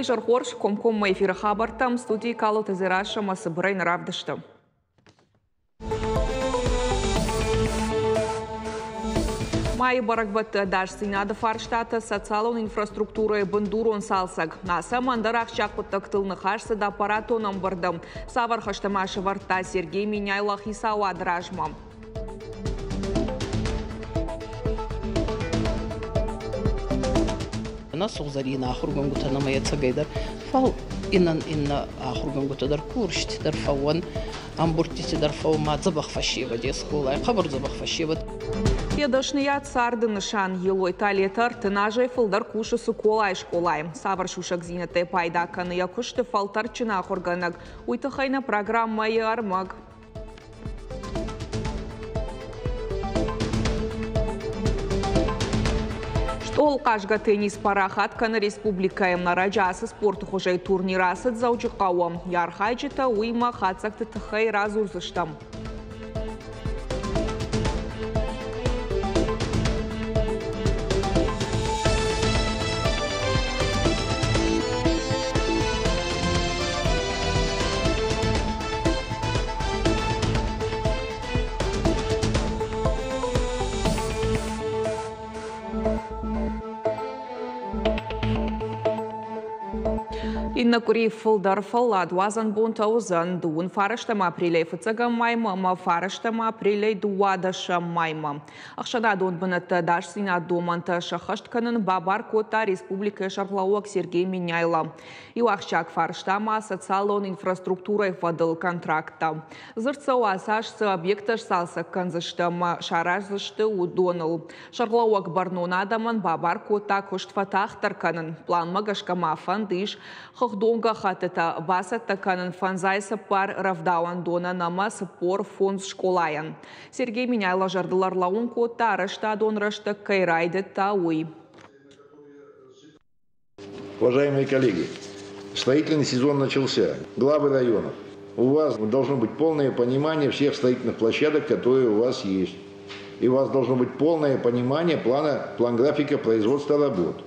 Уый изӕр хорз, комкоммӕ эфиры хабӕрттӕм студийы Калоты Дзерассӕ ӕмӕ цыбырӕй нӕ равдысты. Майы бӕрӕгбӕтты ӕдасдзинады фарстатӕ, социалон инфраструктурӕйы бындурон цалцӕг. Ацы ӕмӕ ӕндӕр ахсджиаг хъуыддӕгтыл ныхас цыд аппаратон ӕмбырды. Цавӕр хӕстӕ ма сӕвӕрдта Сергей Меняйло хицауады размӕ? Нӕ сугъзӕрийнӕ ахургӕнгутӕ нӕмӕ ӕцӕгӕйдӕр, фал иннӕ иннӕ ахургӕнгутӕ дӕр курсти дӕр фӕууӕн, ӕмбурдтити дӕр фӕууӕн, ма дзӕбӕх фӕсевӕд е скъолай, хъӕбӕр дзӕбӕх фӕсевӕд. Йӕ дӕсныйад царды нысан Елойты Алетӕ 30 азӕй фылдӕр кусы Цыколайы скъолайы. Цавӕр сусӕгдзинӕдтӕй пайда кӕны йӕ куысты фӕлтӕрдджын ахуыргӕнӕг, уый тыххӕй нӕ программӕйы ӕрмӕг. Стъол хъазгӕ теннис парахат кӕны республикӕйы. Ӕрӕджы ацы спорты хуызӕй турнир ацыд Дзӕуджыхъӕуы. Йӕ архайджытӕ уыимӕ хатдзӕгты тыххӕй радзурдзыстӕм. Иннӕ къуыри фылдӕр фӕлладуадзӕн бонтӕ уыдзӕн дыууын фарӕстӕм апрелӕй фыццӕгӕм маймӕ ӕмӕ фарӕстӕм апрелӕй дыууадӕсӕм маймӕ. Ӕхсӕнадон бынӕтты ӕдасдзинад домӕнтӕ сӕххӕст кӕнын бабар кодта республикӕйы сӕргълӕууӕг Сергей Меняйло. Иу ахсджиаг фарста ма социалон инфраструктурӕйы фӕдыл контракттӕ. Дзырд цӕуы ацы аз цы объекттӕ сцалцӕг кӕндзысты ӕмӕ сараздзысты, уыдоныл. Сӕргълӕууӕг бӕрнон адӕмӕн бабар кодта куыст фӕтагъддӕр кӕнын. Планмӕ гӕсгӕ ма фӕнд ис хыгъдон гӕххӕттытӕ бацӕттӕ кӕнын 54 рӕвдауӕндонӕн ӕмӕ 45 скъолайӕн. Сергей Меняйло зӕрдыл ӕрлӕууын кодта, арӕзтадон рӕстӕг кӕй райдыдта, уый. Уважаемые коллеги, строительный сезон начался. Главы районов, у вас должно быть полное понимание всех строительных площадок, которые у вас есть. И у вас должно быть полное понимание плана, план графика производства работ.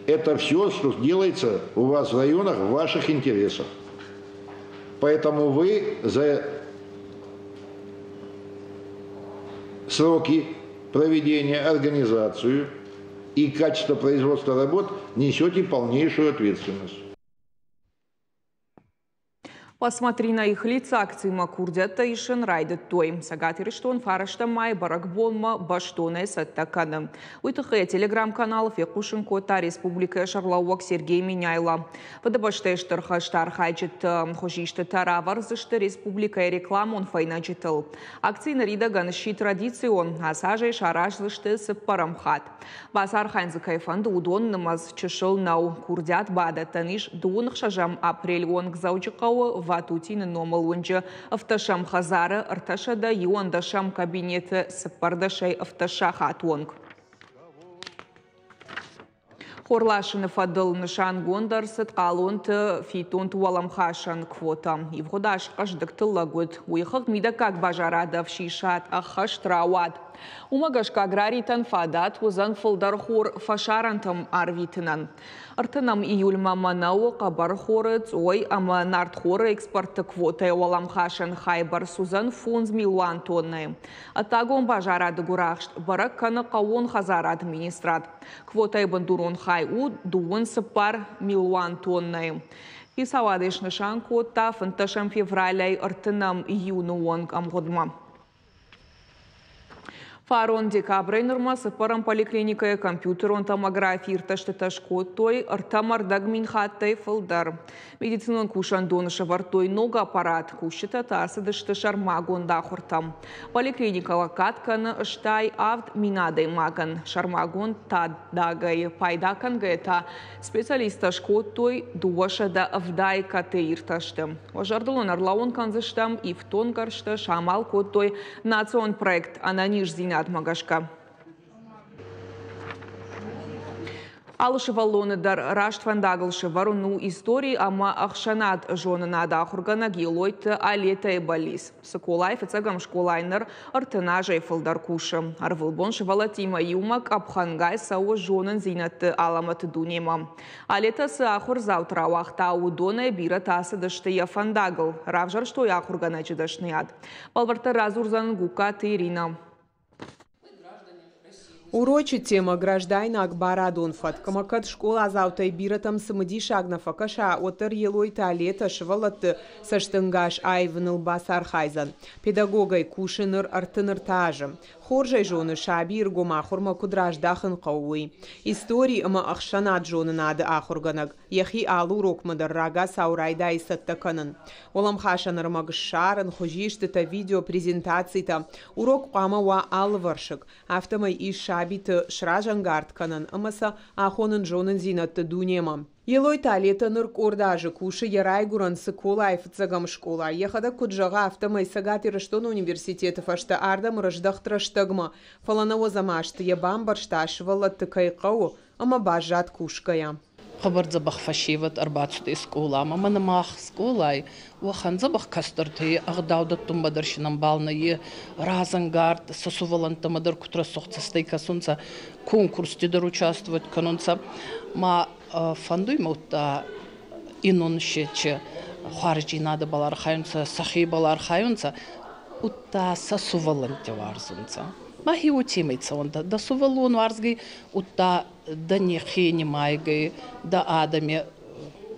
Это все, что делается у вас в районах, в ваших интересах. Поэтому вы за сроки проведения, организацию и качество производства работ несете полнейшую ответственность. Посмотри на их лица акциимӕ курдиӕттӕ исын райдыдтой. Цӕгат Ирыстон фарӕстӕм майы бӕрӕгбонмӕ бӕстонӕй цӕттӕ кӕны. Уый тыххӕй телеграм-каналы фехъусын кодта республикӕйы сӕргълӕууӕг Сергей Меняйло. Фыдыбӕстӕйы Стыр хӕсты архайджыты хуызистытӕ равӕрдзысты республикӕйы рекламон фӕйнӕджытыл. Акци ныридӕгӕн сси традицион, ацы азӕй сараздзысты цыппӕрӕм хатт. Бацархайын дзы кӕй фӕнды, уыдон нымӕц чысыл нӕу. Курдиат бадӕттӕн ис дыууын ӕхсӕзӕм апрель онг Дзӕуджыхъӕуы Ватутины номыл уынджы ӕвддӕсӕм хӕдзары 311-ӕм кабинеты цыппӕрдӕсӕй ӕвддӕс сахат онг. Хорласыны фӕдыл нысангонд ӕрцыд хъалонты фиддонты уӕлӕмхасӕн квота. Ивгъуыд аз хъӕздыг тыллӕг уыд. Уый хыгъд мидӕггаг базарады ӕфсисад ӕххӕст рауад. Уымӕ гӕсгӕ аграритӕн фадат уыдзӕн фылдӕр хор фӕсарӕнтӕм арвитынӕн. Ӕртынӕм июльмӕ мӕнӕуы, хъӕбӕрхоры, цъой ӕмӕ нартхоры экспорты квотӕйы уӕлӕмхасӕн хай бӕрц уыдзӕн 5 милуан тоннӕйы. Ӕддагон базарады гуырахст бӕрӕг кӕны хъӕууон хӕдзарады министрад. Квотӕйы бындурон хай у дыууын цыппар милуан тоннӕйы. Хицауад снысан кодта 15 февралӕй ӕртынӕм июны онг ӕмгъуыдмӕ. Фарон декабрӕй нырмӕ цыппӕрӕм поликлиникӕйы компьютерон томографи иртӕстытӕ скодтой 3,25 хаттӕй фылдӕр. Медицинон кусӕндоны сӕвӕрдтой ног аппарат, кусджытӕ та ацыдысты сӕрмагонд ахуыртӕм. Поликлиникӕ лӕггад кӕны 87 000 адӕймагӕн. Сӕрмагонд тадагӕй пайда кӕнгӕйӕ та специалисттӕ скодтой 270 КТ иртӕсты. Уӕ зӕрдыл ын ӕрлӕууын кӕндзыстӕм, ифтонггӕрзтӕ самал кодтой национ проект ӕнӕниздзинадмӕ гӕсгӕ. Алы сывӕллоны дӕр раст фӕндагыл сӕвӕрын у истори ӕмӕ ӕхсӕнад зонынады ахуыргӕнӕг Елойты Алетӕйы бӕллиц. Цыколайы фыццӕгӕм скъолайы ныр 30 азӕй фылдӕр кусы. Ӕрвылбон сывӕллӕттимӕ иумӕ къӕпхӕнгай цӕуы зонындзинӕдты алӕмӕты дунемӕ. Алетӕ цы ахуырдзауты рауагъта, уыдонӕй бирӕтӕ ацыдысты йӕ фӕндагыл, равзӕрстой ахуыргӕнӕджы дӕсныйад. Бӕлвырддӕр радзурдзӕн Гугкаты Иринӕ. Урочы темӕ граждайнаг барадон фӕтк ӕмӕ кӕд скъоладзаутӕй бирӕтӕм цымыдисаг нӕ фӕкӕса, уӕддӕр Елойты Алетӕ сывӕллӕтты цӕстӕнгас аивыныл бацархайдзӕн. Педагогӕй кусы ныр 33 азы. Хорз ӕй зоны, сабийы ргом ахуырмӕ куыд раздахын хъӕуы, уый. Истори ӕмӕ ӕхсӕнад зонынады ахуыргӕнӕг йӕхи алы урокмӕ дӕр рагацау райдайы цӕттӕ кӕнын. Уӕлӕмхасӕн ӕрмӕг ссарын, хуызистытӕ, видеопрезентацитӕ. Урок хъуамӕ уа алывӕрсыг. Афтӕмӕй ис сабиты сразӕнгард кӕнын ӕмӕ сӕ ахонын зонындзинӕдты дунемӕ. Елойты Алетӕ ныр къорд азы кусы йӕ райгуырӕн Цыколайы фыццӕгӕм скъолайы. Йӕхӕдӕг куыд зӕгъы, афтӕмӕй Цӕгат Ирыстоны университеты фӕстӕ ардӕм рыздӕхт рӕстӕгмӕ. Фӕлӕ нӕуӕдзӕм азты йӕ бамбӕрста, сывӕллӕтты кӕй хъӕуы, ӕмӕ баззад кусгӕйӕ. Хъӕбӕр дзӕбӕх фӕсевӕд ӕрбацудӕй скъоламӕ. Мӕнӕ мах скъолай уӕхӕн дзӕбӕх кӕстӕртӕй ӕгъдау дӕттунмӕ дӕр син ӕмбал нӕййе, разӕнгард сӕ сувӕллӕнттӕмӕ дӕр куд рӕсугъд цӕстӕй кӕсунцӕ, конкурсти дӕр участвовать кӕнунцӕ. Ма фӕндуй мӕ удта иннон сече хуарздзийнадӕбӕл архайунцӕ, сӕхебӕл архайунцӕ, удта сӕ сувӕллӕнтти уарзунцӕ. Мӕхе уотемӕй цӕунтӕ. Дӕ сувӕллон уарзгӕй, удта дӕ нихе нимайгӕй, дӕ адӕми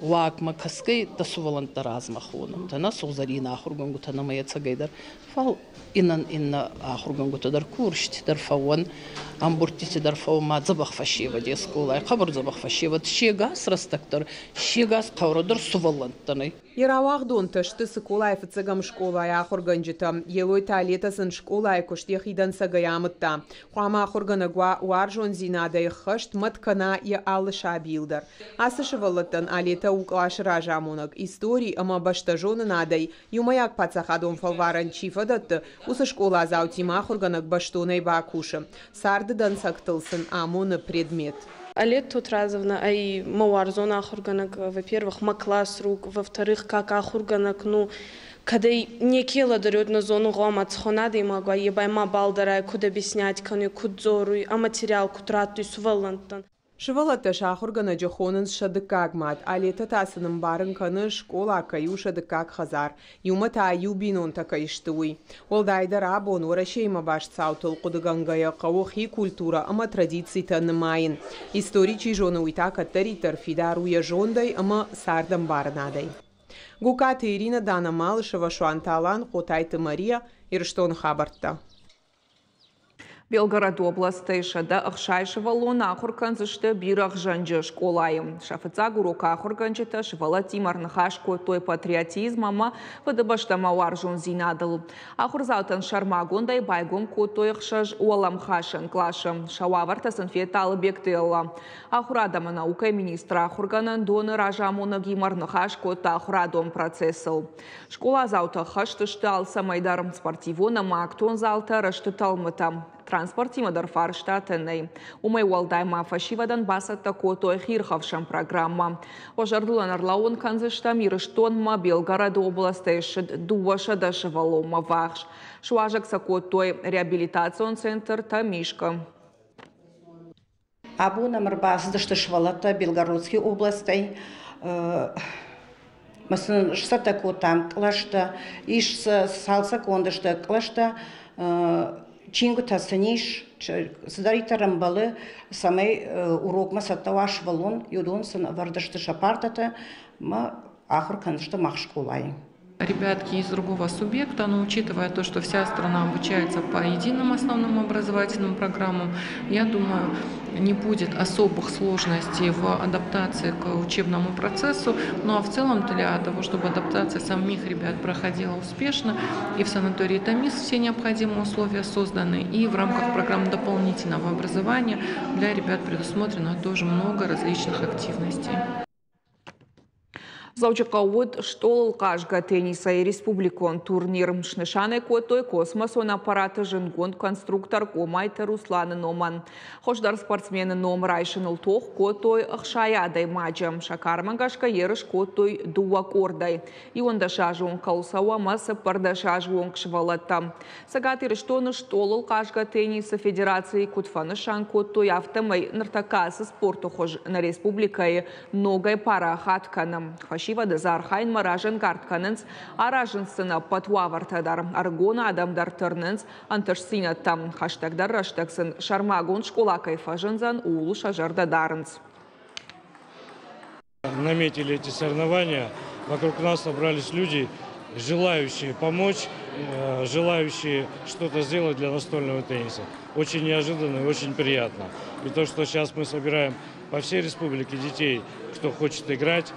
уагмӕ кӕсгӕй дӕ сувӕллӕнттӕ размӕ хонунтӕ, нӕ сугъзӕрийнӕ ахургӕнгутӕ нӕмӕ ӕцӕгӕйдӕр. Фал иннӕ иннӕ ахургӕнгутӕ дӕр курсти дӕр фӕууӕн, ӕмбурдтити дӕр фӕууӕн, ма дзӕбӕх фӕсевӕди скъолай, хъӕбӕр дзӕбӕх фӕсевӕд, се гас рӕстӕг дӕр, се гас хъаурӕ дӕр сувӕллӕнттӕн ӕй. Йӕ рауагъдонтӕ сты Цыколайы фыццӕгӕм скъолайы ахуыргӕнджытӕ. Елойты Алетӕ сын скъолайы куыст йӕхи дӕнцӕгӕй амыдта. Хъуамӕ ахуыргӕнӕг уа уарзондзинадӕй ӕххӕст, мӕт кӕна йӕ алы сабийыл дӕр. Ацы сывӕллӕттӕн Алетӕ у къласы разамонӕг, истори ӕмӕ бӕстӕзонынадӕй иумӕйаг паддзахадон фӕлварӕн чи фӕдӕтты, уыцы скъоладзаутимӕ ахуыргӕнӕг бӕстонӕй бакусы. Царды дӕнцӕгтыл сын амоны предмет. Алет Тотразовна ӕй мӕ уарзон ахуыргӕнӕг, во-первых, мӕ классрук, во-вторых, как ахуыргӕнӕг, ну, кӕд ӕй неке лӕдӕруй, нӕ зонун, гъома цӕхуӕн адӕймаг уа, е ба мабал дӕр ӕй куд объяснять кӕнуй, куд дзоруй, ӕ материал куд раттуй сувӕллӕнттӕн. Сывӕллӕттӕ сӕ ахуыргӕнӕджы хонынц сӕ дыккаг мад. Алетӕ та сын ӕмбарын кӕны, скъола кӕй у сӕ дыккаг хӕдзар, иумӕ та иу бинонтӕ кӕй сты, уый. Уӕлдайдӕр абон Уӕрӕсеимӕ баст цаутыл хъуыдыгӕнгӕйӕ хъӕуы хи культурӕ ӕмӕ традицитӕ нымайын. Истори чи зоны, уый та кӕддӕриддӕр фидар у йӕ зондӕй ӕмӕ цардӕмбарынадӕй. Гукаты Ирина, Дана Малышева, Суанты Алан, Хъотайты Мария, Ирыстоны хабӕрттӕ. Белгороды областӕй 160 сывӕллоны ахуыр кӕндзысты Бирӕгъзӕнджы скъолайы. Сӕ фыццаг урокы ахуыргӕнджытӕ сывӕллӕттимӕ ӕрныхас кодтой патриотизм ӕмӕ фыдыбӕстӕмӕ уарзондзинадыл. Ахуырдзаутӕн сӕрмагондӕй байгом кодтой 6 уӕлӕмхасӕн къласы. Сӕ уавӕртӕ сын федта Алыбегты Элла. Ахуырад ӕмӕ наукӕйы министр ахуыргӕнӕндоны разамонӕгимӕ ӕрныхас кодта ахуырадон процессыл. Скъоладзаутӕ хӕст сты алцӕмӕй дӕр: спортивон ӕмӕ актон залтӕ, рӕзты тӕлмытӕ. Транспортимӕ дӕр фарстатӕ нӕй. Уымӕй уӕлдай ма фӕсивӕдӕн бацӕттӕ кодтой хиирхӕфсӕн программӕ. Уӕ зӕрдыл ын ӕрлӕууын кӕндзыстӕм, Ирыстонмӕ Белгороды областӕй ссыд 200 сывӕллонмӕ ввахс. Суазӕг сӕ кодтой реабилитацион центр Тӕмискъы. Абон ӕм ӕрбацыдысты сывӕллӕттӕ Белгородский областӕй. Мӕ сын сцӕттӕ кодтам кълӕстӕ, ис сӕ цалцӕггонд сты кълӕстӕ, чингуытӕ сын ис, цыдӕриддӕр ӕмбӕлы, цӕмӕй урокмӕ цӕттӕ уа сывӕллон, уыдон сын ӕвӕрд сты сӕ партӕтӕ мӕ ахуыр кӕндзысты мах скъолайы. Ребятки из другого субъекта, но учитывая то, что вся страна обучается по единым основным образовательным программам, я думаю, не будет особых сложностей в адаптации к учебному процессу. Ну а в целом для того, чтобы адаптация самих ребят проходила успешно, и в санатории Тамис все необходимые условия созданы, и в рамках программы дополнительного образования для ребят предусмотрено тоже много различных активностей. Дзӕуджыхъӕуы уыд стъолыл хъазгӕ теннисӕй республикон турнир. Снысан ӕй кодтой космосон аппараты зындгонд конструктор Къомайты Русланы номӕн. Хуыздӕр спортсмены ном райсыныл тох кодтой 60 адӕймаджы. Сӕ кармӕ гӕсгӕ ерыс кодтой дыууӕ къордӕй. 11-азон кӕуыл цӕуы ӕмӕ 14 азы онг сывӕллӕттӕ. Цӕгат Ирыстоны стъолыл хъазгӕ теннисы федерацийы куыд фӕнысан кодтой, афтӕмӕй ныртӕккӕ ацы спорты хуыз нӕ республикӕйы ногӕй парахат кӕны. Фӕсивӕды дзы архайынмӕ разӕнгард кӕнынц, аразынц сын ӕппӕт уавӕртӕ дӕр. Ӕрыгон адӕм дӕр тырнынц ӕнтыстдзинӕдтӕм. Хӕстӕгдӕр рӕстӕг сын сӕрмагонд скъола кӕй фӕзындзӕн, ууыл сӕ зӕрдӕ дарынц. Наметили эти соревнования, вокруг нас собрались люди, желающие помочь, желающие что-то сделать для настольного тенниса. Очень неожиданно и очень приятно. И то, что сейчас мы собираем по всей республике детей, кто хочет играть,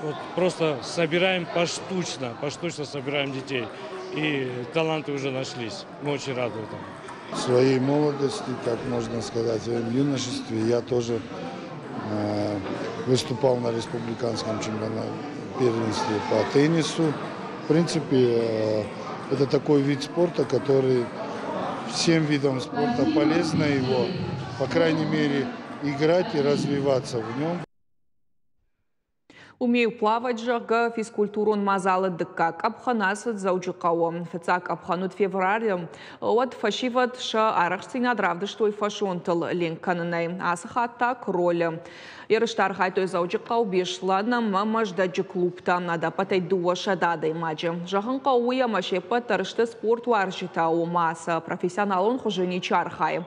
вот просто собираем поштучно, поштучно собираем детей. И таланты уже нашлись. Мы очень рады этому. В своей молодости, как можно сказать, в своем юношестве я тоже выступал на республиканском чемпионате первенстве по теннису. В принципе, это такой вид спорта, который всем видам спорта полезно его, по крайней мере, играть и развиваться в нем. Умею плавать, зӕгъгӕ, физкультурон мадзалы дыккаг къӕпхӕн ацыд Дзӕуджыхъӕуы. Фыццаг къӕпхӕн уыд февралы. Уӕд фӕсивӕд сӕ арӕхстдзинад равдыстой фӕсонтыл ленк кӕнынӕй. Ацы хатт та кролы. Ерысты архайдтой Дзӕуджыхъӕу, Беслӕн ӕмӕ Мӕздӕджы клубтӕ. Ӕдӕппӕтӕй 200 адӕймаджы. Зӕгъын хъӕуы уый, ӕмӕ се ппӕт дӕр сты спортуарзджытӕ, ома сӕ профессионалон хуызы ничи архайы.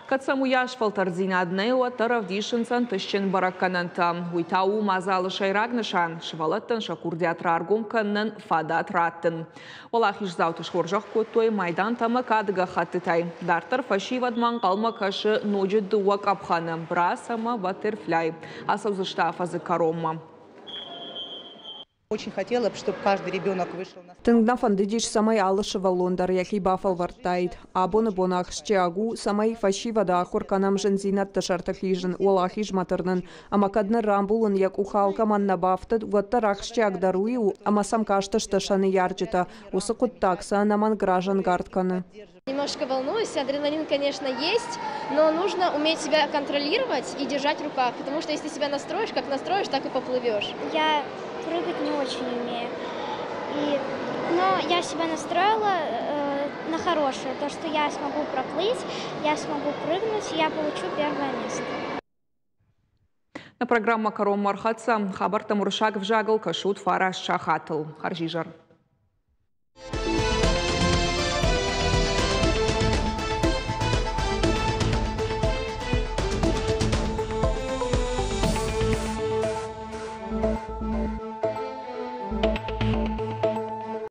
Кӕд сӕм уыйас фӕлтӕрддзинад нӕй, уӕддӕр ӕвдисынц ӕнтыстджын бӕрӕггӕнӕнтӕ. Уый та у мадзалы сӕйраг нысан – сывӕллӕттӕн сӕ курдиат раргом кӕнынӕн фадат раттын. Уӕлахиздзауты схорзӕх кодтой майдантӕ ӕмӕ кады гӕххӕттытӕй. Дарддӕр фӕсивӕдмӕ ӕнхъӕлмӕ кӕсы ноджы дыууӕ къӕпхӕны – брас ӕмӕ баттерфляй. Ацӕудзысты афӕдзы кӕронмӕ. Очень хотела, чтобы каждый ребенок вышел на Тынг нӕ фӕндыдис, цӕмӕй алы сывӕллон дӕр йӕхи бафӕлвӕрдтаид. Абоны бон ахсджиаг у, цӕмӕй фӕсивӕды ахуыр кӕнӕм зындзинӕдты сӕрты хизын, уӕлахизмӕ тырнын. Ӕмӕ кӕд ныр рамбулын йӕ къухы алкӕмӕн нӕ бафтыд, уӕддӕр ахсджиагдӕр уый у, ӕмӕ сӕм кастысты сӕ ныййарджытӕ. Уыцы хъуыддаг сӕ ӕнӕмӕнг разӕнгард кӕны. Немножко волнуюсь, адреналин, конечно, есть, но нужно уметь себя контролировать и держать в руках, потому что если себя настроишь, как настроишь, так и поплывешь. Я прыгать не очень умею. Но я себя настроила на хорошее, то, что я смогу проплыть, я смогу прыгнуть, и я получу первое место. Нӕ программӕ кӕронмӕ ӕрхӕццӕ. Хабӕрттӕ уырыссаг ӕвзагыл кӕсут 9 сахатыл. Хӕрзизӕр.